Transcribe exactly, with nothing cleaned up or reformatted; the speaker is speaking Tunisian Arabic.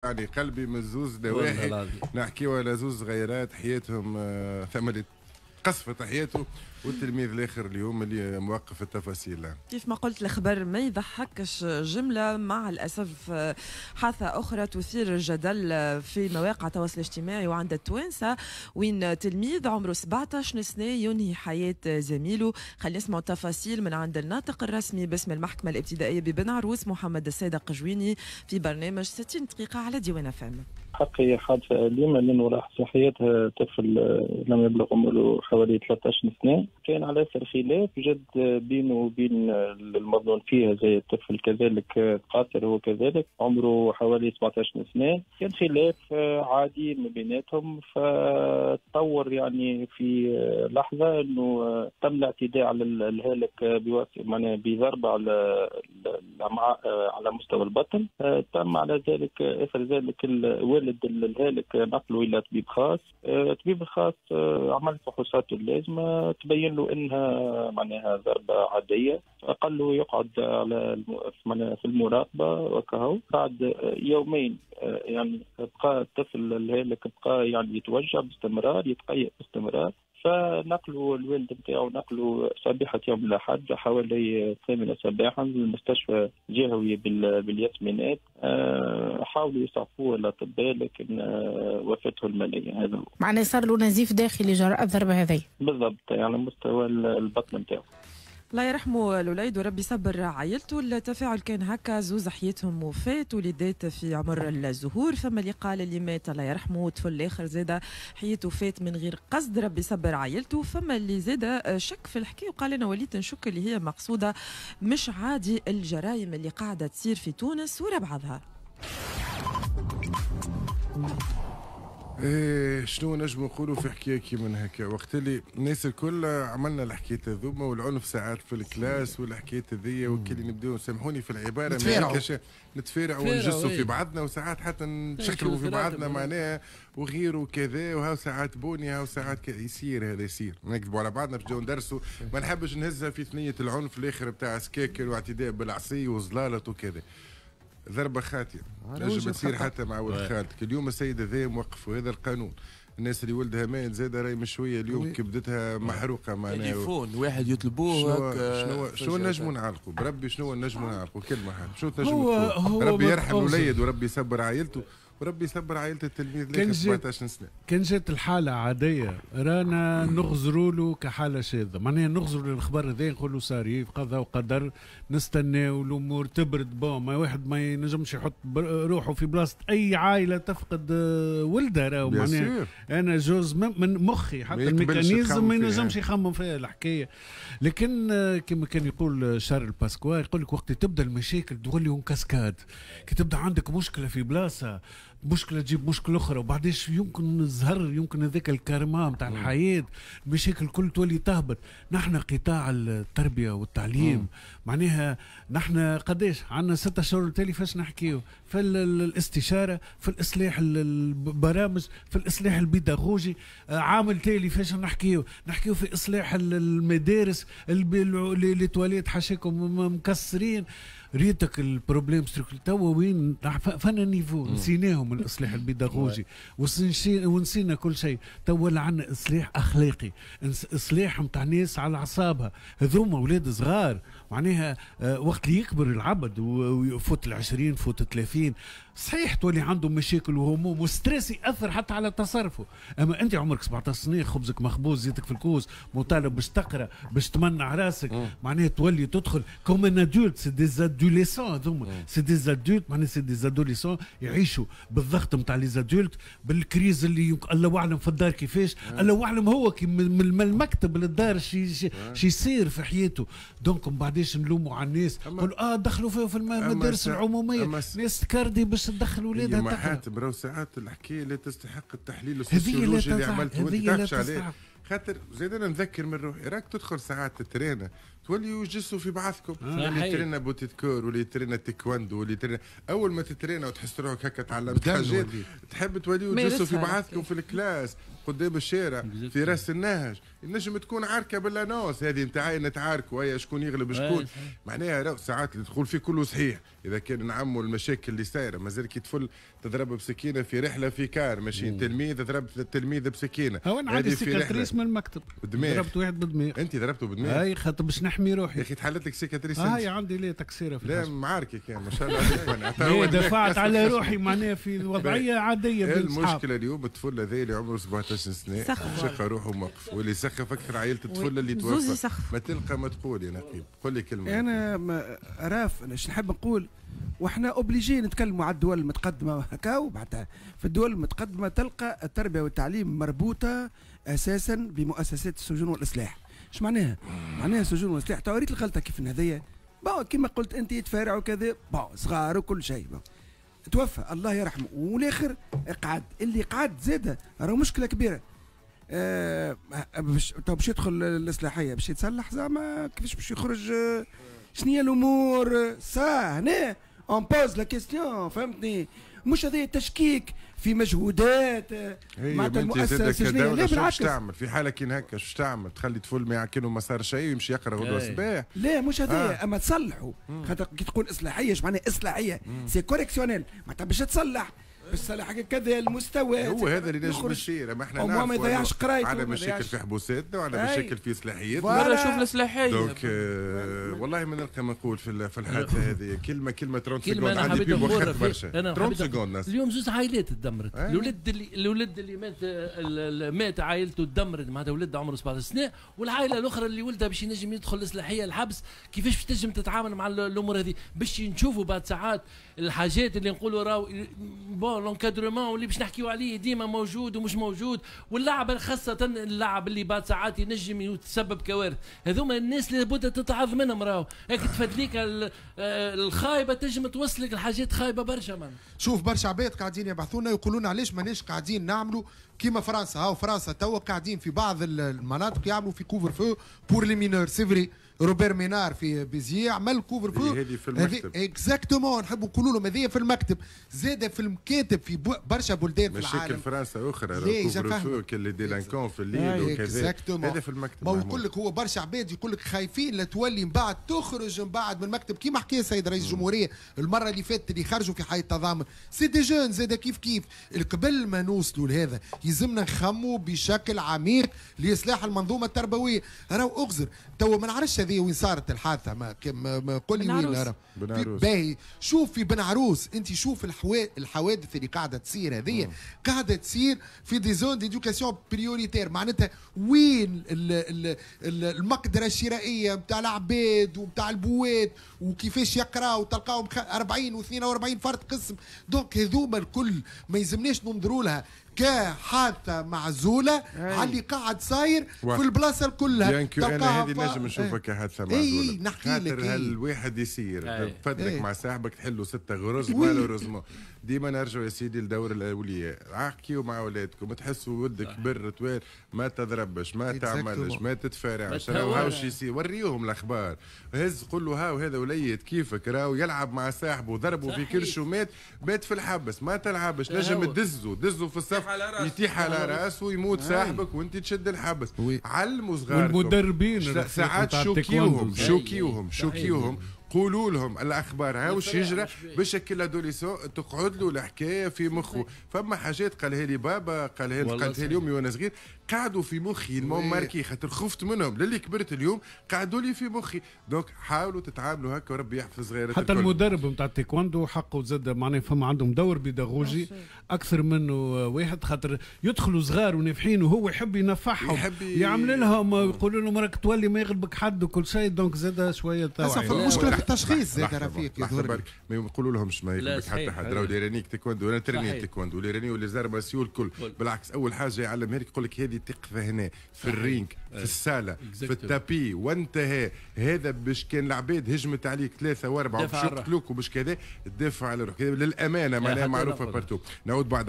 يعني قلبي من زوز نواحي، نحكيو على زوز صغيرات حياتهم ثمرت قصفت حياته، والتلميذ الاخر اليوم اللي موقف التفاصيل. كيف ما قلت الخبر ما يضحكش جملة، مع الاسف حادثه اخرى تثير الجدل في مواقع التواصل الاجتماعي وعند التوانسة، وين تلميذ عمره سبعطاش سنة ينهي حياة زميله. خلينا نسمعوا التفاصيل من عند الناطق الرسمي باسم المحكمة الابتدائية ببن عروس محمد الصادق جويني في برنامج ستين دقيقة على ديوان اف ام. حقي حادثه اليوم لانه راح في حياتها طفل لم يبلغ عمره حوالي ثلاثة عشر سنة، كان على اثر خلاف جد بينه وبين المظنون فيه زي الطفل كذلك قاصر هو كذلك عمره حوالي سبعة عشر سنة، كان خلاف عادي ما بيناتهم، فتطور يعني في لحظة انه تم الاعتداء على الهالك بواسطة معناها بضربه على الامعاء على مستوى البطن، تم على ذلك اثر ذلك الوالد الهالك نقله الى طبيب خاص، الطبيب الخاص عمل فحوصاته اللازمة تبين له انها معناها ضربه عادية، قال له يقعد على في المراقبة وكهو. بعد يومين يعني بقى الطفل الهالك بقى يعني يتوجع باستمرار، يتقيأ باستمرار، فنقلوا الوالد نتاعو نقلوا صبيحة يوم الأحد حوالي الثامنة صباحا للمستشفى الجهوي بالياسمينات. حاولوا يسعفوه الأطباء لكن وفاته المنية. هذا معناه صار له نزيف داخلي جراء الضربة هذه بالضبط، يعني على مستوى البطن نتاعو. الله يرحمه الوليد وربي يصبر عائلته. التفاعل كان هكا، زوز حياتهم وفات، وليدات في عمر الزهور، فما اللي قال اللي مات الله يرحمه، طفل الاخر زاد حياته فات من غير قصد ربي يصبر عائلته، فما اللي زاد شك في الحكاية وقال انا وليت نشك اللي هي مقصوده. مش عادي الجرائم اللي قاعدة تصير في تونس ورا بعضها. إيه شنو نجم نقولوا في حكاية كيما هكا؟ وقت اللي الناس الكل عملنا الحكاية هذوما والعنف ساعات في ال classe والحكاية هذيا، وكل نبداو سامحوني في العبارة نتفارعوا نتفارعوا ونجسوا في بعضنا، وساعات حتى نشكلوا في بعضنا معناها وغيره وكذا، وهاو ساعات بوني هاو ساعات يصير هذا يصير، نكذبوا على بعضنا باش نبداو ندرسوا. ما نحبش نهزها في ثنيه العنف الاخر بتاع سكاكر واعتداء بالعصي وزلاله وكذا. ضربة خاطئة نجم تصير حتى مع ولد خالتك. اليوم السيد هذا موقف وهذا القانون، الناس اللي ولدها مات زاد راهي مشوية اليوم كبدتها محروقة معناها. تليفون واحد يطلبوه شنو شنو نجموا نعلقوا بربي؟ شنو نجموا نعلقوا كلمة حاجة شنو تنجموا؟ ربي يرحم الوليد وربي يصبر عائلته وربي يصبر عائلة التلميذ اللي سبعطاش سنة. كان جات الحالة عادية رانا نغزروا له كحالة شاذة، معناها نغزروا للخبر هذا نقولوا صار قضاء وقدر، نستناو الأمور تبرد. bon ما واحد ما ينجمش يحط روحه في بلاصة أي عائلة تفقد ولدها، راهو معناها أنا جوز من مخي حتى ال mécanisme ما ينجمش يخمم فيها الحكاية. لكن كما كان يقول شارل باسكوا، يقول لك وقت تبدا المشاكل تولي cascade، كي تبدا عندك مشكلة في بلاصة مشكلة تجيب مشكلة اخرى، وبعديش يمكن الزهر يمكن هذاك الكارما نتاع الحياة المشاكل الكل تولي تهبط. نحن قطاع التربية والتعليم مم. معناها نحن قداش عندنا ستة شهور التالي فاش نحكيو في الاستشارة، في الاصلاح البرامج، في الاصلاح البيداغوجي، عامل تالي فاش نحكيو نحكيو في اصلاح المدارس، les toilettes حاشاكم مكسرين. ريتك ال problème structurel توا وين فانا niveau نسيناهم الاصلاح البيداغوجي ونسينا كل شيء. توا ولا عندنا اصلاح اخلاقي، اصلاح نتاع ناس على اعصابها، هذوما اولاد صغار معناها وقت اللي يكبر العبد ويفوت العشرين فوت الثلاثين صحيح تولي عنده مشاكل وهموم و stress ياثر حتى على تصرفه. اما انت عمرك سبعطاش سنة، خبزك مخبوز، زيتك في الكوز، مطالب باش تقرا باش تمنع راسك، معناها تولي تدخل comme un adulte. c'est des adolescents هذوما، c'est des adultes معناها c'est des adolescents يعيشوا بالضغط نتاع les adultes، بال crise اللي يمكن الله اعلم في الدار كيفاش، الله اعلم هو كي من المكتب للدار شي شي يصير في حياته. donc من بعديش نلوموا على الناس نقولوا اه دخلوا فيه في المدارس العمومية، ناس تكردي باش تدخل ولادها تقرا. حاتم راهو ساعات الحكاية لا تستحق التحليل السوسيولوجي اللي عملته وانت تعرفش عليه، خاطر زيد انا نذكر من روحي راك تدخل ساعات الترينه توليوا يجسوا في بعضكم. اللي ترينا beauté de corps واللي ترينا تايكواندو واللي ترينا، اول ما تترينا وتحس روحك هكا تعلمت حاجات تحب توليوا تجسوا في بعضكم في ال classe قدام الشارع في راس النهج. نجم تكون عركة بال annonce هذه نتاعي نتعاركوا هيا شكون يغلب شكون. معناها ساعات اللي تقول فيه كله صحيح، اذا كان نعموا المشاكل اللي صايرة. مازال كي طفل تضرب بسكينة في رحله في car ماشيين، تلميذ ضرب التلميذ بسكينة. هو انا عندي cicatrice من المكتب، ضربت واحد بدماغ. انت ضربته بدماغ؟ اي خاطر باش نحمي روحي. يا اخي تحلت لك cicatrice؟ هاي عندي ليه تكسيره في لا معاركك يعني ما شاء الله عليك. دفعت على روحي معناها في وضعية عادية. المشكلة اليوم الطفل هذا اللي عمره سبعطاش سنة شقه روحه موقف، واللي سخف اكثر عائلة الطفل اللي توفى. ما تلقى ما تقول يا نقيب، قول لي كلمة. انا راف انا اش نحب نقول، واحنا obligés نتكلموا على الدول المتقدمة هكا، وبعدها في الدول المتقدمة تلقى التربية والتعليم مربوطة اساسا بمؤسسات السجون والاصلاح. اش معناها؟ معناها السجون والاصلاح تو ريت الغلطة كيف هذيا، bon كيما قلت انت يتفارعوا كذا، bon صغار وكل شيء، توفى الله يرحمه، والاخر قعد، اللي قعد زاده راهو مشكلة كبيرة. آه باش تو باش يدخل الاصلاحية باش يتصلح زعما كيفاش باش يخرج؟ شنو هي الامور؟ ça هنا on pose la question، فهمتني؟ مش هذا تشكيك في مجهودات معناتها المؤسسة السجنيه، لا بالعكس. تعمل في حاله كي هكا شو تعمل؟ تخلي طفل ما يعكنه ما صار شيء ويمشي يقرا غدوه الصباح؟ لا مش هذا، اما تصلحوا. خاطر كي تقول اصلاحية اش معناها اصلاحية؟ c'est correctionnel، معناتها باش تصلح باش تصلح كذا المستوى. هو هذا اللي نجم يصير. ما احنا نعرفوا ما يضيعش قرايته، على مشاكل في حبوساتنا وعلى مشاكل في اصلاحيتنا. مرة شوف الاصلاحية. donc آه والله ما نلقى ما نقول في في الحادثة هذه. كلمة كلمة ثلاثين secondes عندي بيب وخرت برشا. ثلاثين secondes. اليوم زوز عائلات تدمرت. الولد اللي الولد اللي مات مات عائلته تدمرت، معناتها ولد عمره سبعطاش سنة، والعائلة الاخرى اللي ولدها باش ينجم يدخل الاصلاحية الحبس، كيفاش باش تنجم تتعامل مع الامور هذه؟ باش نشوفوا بعد ساعات الحاجات اللي نقولوا راهو bon l'encadrement واللي باش نحكيو عليه ديما موجود ومش موجود، واللعب خاصة اللعب اللي بعد ساعات ينجم يتسبب كوارث. هذوما الناس اللي لابد تتعظ منهم، راهو هيك تفدليك الخايبة تنجم توصلك لحاجات خايبة برشا. man شوف برشا عباد قاعدين يبعثونا يقولون علاش ماناش قاعدين نعملوا كيما فرنسا. هاو فرنسا توا قاعدين في بعض المناطق يعملوا في couvre-feu pour les mineurs. c'est vrai روبير مينار في Béziers عمل couvre-feu هذه في المكتب. exactement، نحب نقولوا لهم هذه في المكتب، زاده في المكاتب في برشا بلدان في العالم. مشاكل فرنسا اخرى couvre-feu كل les délinquants في الليل وكذا، هذا في المكتب. ما يقول لك هو برشا عباد يقول لك خايفين لا تولي من بعد تخرج من بعد من المكتب، كيما حكى السيد رئيس الجمهورية المرة اللي فاتت اللي خرجوا في حي التضامن c'est des jeunes زاده كيف كيف. قبل ما نوصلوا لهذا يلزمنا نخموا بشكل عميق لاصلاح المنظومة التربوية. راهو اغزر تو ما نعرفش هذه وين صارت الحادثة، ما, ما قول لي وين. باهي شوف في بن عروس، انت شوف الحوادث اللي قاعدة تصير هذه قاعدة تصير في des zones d'éducation prioritaire، معناتها وين المقدرة الشرائية نتاع العباد ونتاع البوات وكيفاش يقراو، تلقاهم أربعين واثنين وأربعين فرد قسم. donc هذوما الكل ما يلزمناش ننظروا لها كحادثه معزولة على اللي قاعد صاير في البلاصة كلها. bien que انا هذه نجم نشوفها كحادثه معزولة. اي نحكي لك الواحد يصير تفدرك مع صاحبك تحلوا ستة غرز malheureusement. ديما نرجعوا يا سيدي لدور الاولياء، احكيوا مع اولادكم، تحسوا ولدك كبر طويل ما تضربش ما تعملش ما تتفارعش، راهو هاوش يصير، وريهم الاخبار، هز قول له هاو هذا وليد كيفك راهو يلعب مع صاحبه ضربه في كرشه مات مات في الحبس، ما تلعبش، نجم تدزه دزه في الصف يتيح على راسه ويموت صاحبك وانت تشد الحبس. علموا صغاركم والمدربين ساعات شوكيوهم شوكيوهم شوكيوهم قولوا لهم الاخبار هاو واش يجرى باش كل adolescent تقعد له الحكاية في مخه. فما حاجات قالها لي بابا قالها لي قالتها لي امي وانا صغير قعدوا في مخي m'ont marqué خاطر خفت منهم للي كبرت اليوم قعدوا لي في مخي. donc حاولوا تتعاملوا هكا وربي يحفظ صغيرات. حتى المدرب نتاع التايكوندو حقه زاد معناها فما عندهم دور بيداغوجي اكثر منه واحد، خاطر يدخلوا صغار ونافحين وهو يحب ينفعهم يحب يعمل لهم يقولوا لهم راك تولي ما يغلبك حد وكل شيء. donc زاد شوية توعيه. المشكلة في التشخيص زاد رفيق يظهر ما يقولوا لهمش ما يغلبك حتى حد، راهو اللي تايكوندو ولا تريني تايكوندو واللي راني واللي زار martiaux الكل. بالعكس اول حاجة يعلمها لك يقول لك هذه تقف هنا في ال ring في السالة في ال tapis وانتهى. هذا باش كان العباد هجمت عليك ثلاثة واربعة وباش يقتلوك وباش كذا تدافع على روحك للامانة معناها معروفة partout. نعود بعد.